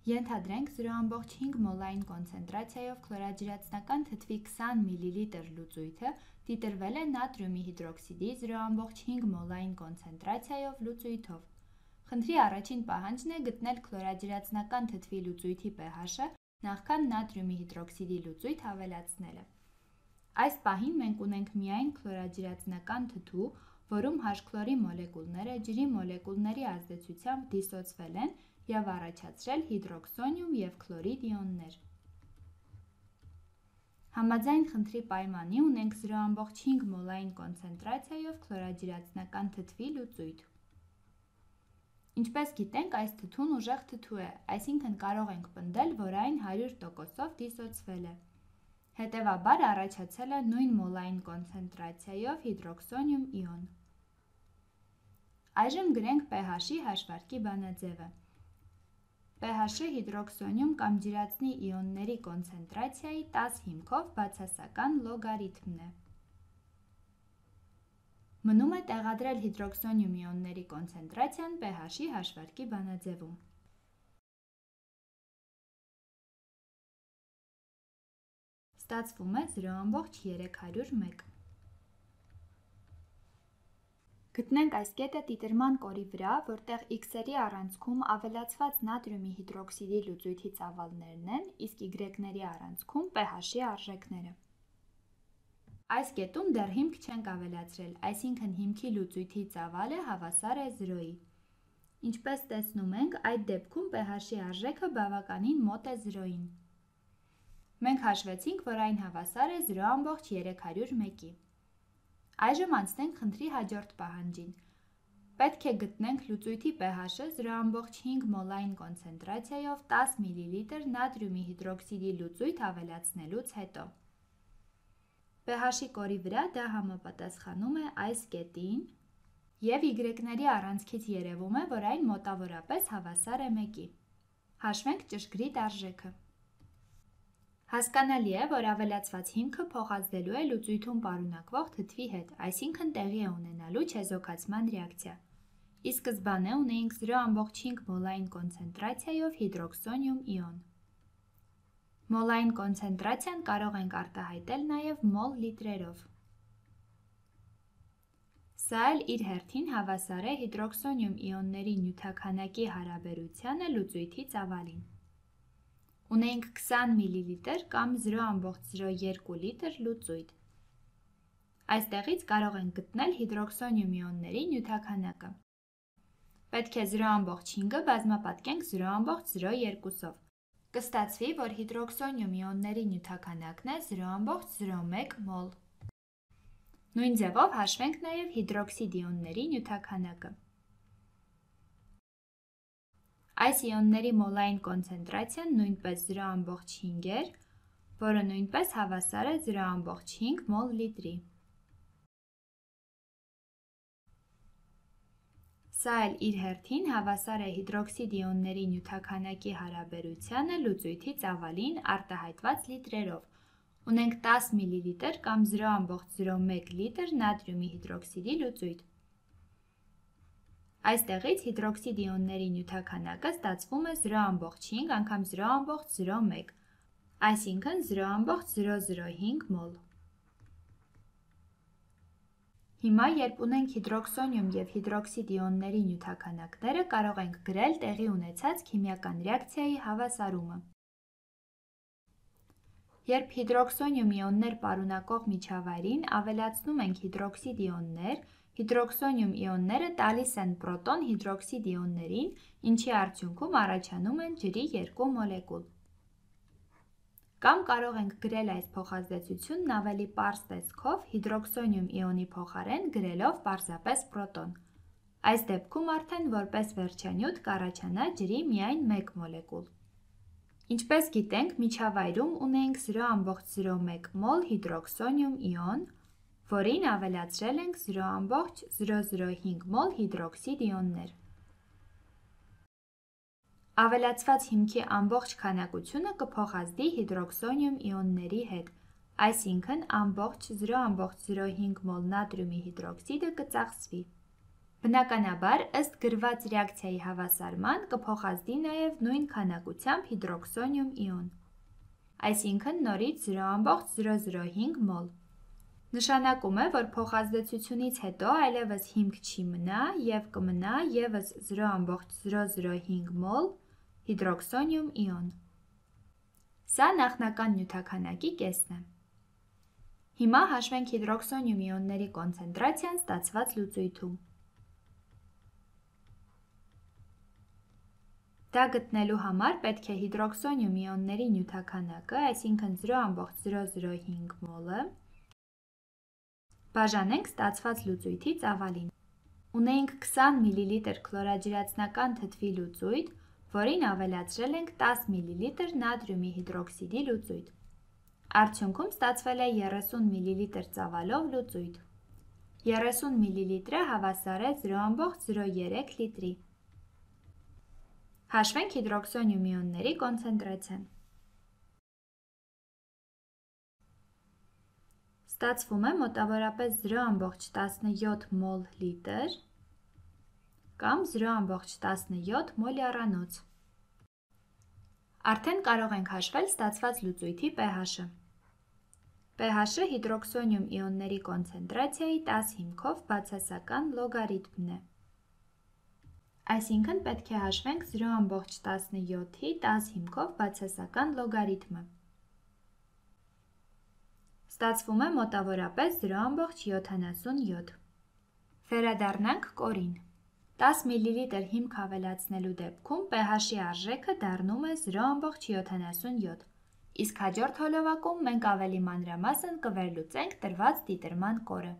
Ենթադրենք 0,5 մոլային կոնցենտրացիայով քլորաջրածնական թթվի 20 մլ լուծույթը դիտրվել է նատրիումի հիդրոքսիդի 0,5 մոլային կոնցենտրացիայով լուծույթով։ Խնդրի առաջին պահանջն է գտնել քլորաջրածնական թթվի լուծույթի pH-ը նախքան նատրիումի հիդրոքսիդի լուծույթ ավելացնելը։ Այս պահին մենք ունենք միայն քլորաջրածնական թթու, որում H-քլորի մոլեկուլները ջրի մոլեկուլների ազդեցությամբ դիսոցվել են և առաջացրել հիդրոքսոնիում և քլորիդ իոններ։ Համաձայն խնդրի պայմանի ունենք 0,5 մոլային կոնցենտրացիայով քլորաջրածնական թթվի լուծույթ։ Ինչպես գիտենք, այս թթուն ուժեղ թթու է, այսինքն կարող ենք պնդել, որ այն 100%-ով դիսոցվել է։ Հետևաբար առաջացել է նույն մոլային կոնցենտրացիայով հիդրոքսոնիում իոն։ Այժմ գրենք pH-ի հաշվարկի բանաձևը։ pH-ը հիդրոքսոնիում կամ ջրածնի իոնների կոնցենտրացիայի 10 հիմքով բացասական լոգարիթմն է։ Մնում է տեղադրել հիդրոքսոնիում իոնների կոնցենտրացիան pH-ի հաշվարկի բանաձևում։ Ստացվում է 0,301։ Գտնենք այս կետը տիտրման կորի վրա, որտեղ X-երի առանցքում ավելացված նատրիումի հիդրոքսիդի լուծույթի ծավալներն են, իսկ Y-ների առանցքում pH-ի արժեքները։ Այս կետում դեռ հիմք չենք ավելացրել, այսինքն հիմքի լուծույթի ծավալը հավասար է 0-ի։ Ինչպես տեսնում ենք, այդ դեպքում pH-ի արժեքը բավականին մոտ է 0-ին։ Մենք հաշվեցինք, որ այն հավասար է 0,301-ի։ Այժմ անցնենք խնդրի հաջորդ պահանջին։ Պետք է գտնենք լուծույթի pH-ը 0,5 մոլային կոնցենտրացիայով 10 մլ նատրիումի հիդրոքսիդի լուծույթ ավելացնելուց հետո։ pH-ի կորի վրա դա համապատասխանում է այս կետին, և Y-ների առանցքից երևում է, որ այն մոտավորապես հավասար է 1-ի։ Հաշվենք ճշգրիտ արժեքը։ Հասկանալի է, որ ավելացված հիմքը փոխազդելու է լուծույթում պարունակվող թթվի հետ, այսինքն տեղի է ունենալու չեզոքացման ռեակցիա։ Ի սկզբանե ունեինք 0,5 մոլային կոնցենտրացիայով հիդրոքսոնիում իոն։ Մոլային կոնցենտրացիան կարող ենք արտահայտել նաև մոլ լիտրերով։ Սա էլ իր հերթին հավասար է հիդրոքսոնիում իոնների նյութաքանակի հարաբերությանը լուծույթի ծավալին։ Ունենք 20 մլ կամ 0,02 լիտր լուծույթ։ Այստեղից կարող ենք գտնել հիդրոքսոնիում իոնների նյութաքանակը։ Պետք է 0,5-ը բազմապատկենք 0,02-ով։ Կստացվի, որ հիդրոքսոնիում իոնների նյութաքանակն է 0,01 մոլ։ Նույն ձևով հաշվենք նաև հիդրոքսիդ իոնների նյութաքանակը։ Այս իոնների մոլային կոնցենտրացիան նույնպես 0,5 էր, որը նույնպես հավասար է 0,5 մոլ լիտրի։ Սա էլ իր հերթին հավասար է հիդրոքսիդ իոնների նյութաքանակի հարաբերությանը լուծույթի ծավալին արտահայտված լիտրերով։ Ունենք 10 մլ կամ 0,01 լիտր նատրիումի հիդրոքսիդի լուծույթ։ Այստեղից հիդրոքսիդ իոնների նյութաքանակը ստացվում է 0,5 անգամ 0,01, այսինքն 0,005 մոլ։ Հիմա, երբ ունենք հիդրոքսոնիում և հիդրոքսիդ իոնների նյութաքանակները, կարող ենք գրել տեղի ունեցած քիմիական ռեակցիայի հավասարումը։ Երբ հիդրոքսոնիում իոններ պարունակող միջավայրին ավելացնում ենք հիդրոքսիդ իոններ, հիդրոքսոնիում իոնները տալիս են պրոտոն հիդրոքսիդ իոններին, ինչի արդյունքում առաջանում են ջրի երկու մոլեկուլ։ Կամ կարող ենք գրել այս փոխազդեցությունն ավելի պարզ տեսքով հիդրոքսոնիում իոնի փոխարեն գրելով պարզապես պրոտոն։ Այս դեպքում արդեն որպես վերջանյութ կառաջանա ջրի միայն մեկ մոլեկուլ։ Ինչպես գիտենք, միջավայրում ունենք 0,01 մոլ հիդրոքսոնիում իոն, որին ավելացրել ենք 0,005 մոլ հիդրոքսիդ իոններ։ Ավելացված հիմքի ամբողջ քանակությունը կփոխազդի հիդրոքսոնիում իոնների հետ, այսինքն ամբողջ 0,05 մոլ նատրիումի հիդրոքսիդը կծախսվի։ Բնականաբար, ըստ գրված ռեակցիայի հավասարման կփոխազդի նաև նույն քանակությամբ հիդրոքսոնիում իոն, այսինքն նորից 0,005 մոլ։ Նշանակում է, որ փոխազդեցությունից հետո այլևս հիմք չի մնա և կմնա ևս 0,005 մոլ հիդրոքսոնիում իոն։ Սա նախնական նյութաքանակի կեսն է։ Հիմա հաշվենք հիդրոքսոնիում իոնների կոնցենտրացիան ստացված լուծույթում։ Դա գտնելու համար պետք է հիդրոքսոնիում իոնների նյութաքանակը, այսինքն 0,005 մոլը, բաժանենք ստացված լուծույթի ծավալին։ Ունեինք 20 մլ քլորաջրածնական թթվի լուծույթ, որին ավելացրել ենք 10 մլ նատրիումի հիդրոքսիդի լուծույթ։ Արդյունքում ստացվել է 30 մլ ծավալով լուծույթ։ 30 մլ հավասար է 0,03 լիտրի։ Հաշվենք հիդրոքսոնիում իոնների կոնցենտրացիան։ Ստացվում է մոտավորապես 0,17 մոլ լիտր կամ 0,17 մոլյարանոց։ Արդեն կարող ենք հաշվել ստացված լուծույթի pH-ը։ pH-ը հիդրոքսոնիում իոնների կոնցենտրացիայի 10 հիմքով բացասական լոգարիթմն է։ Այսինքն պետք է հաշվենք 0,17-ի 10 հիմքով բացասական լոգարիթմը։ Ստացվում է մոտավորապես 0,77։ Վերադառնանք կորին։ 10 մլ հիմք ավելացնելու դեպքում pH-ի արժեքը դառնում է 0,77, իսկ հաջորդ հոլովակում մենք ավելի մանրամասն կվերլուծենք տրված դիտերման կորը։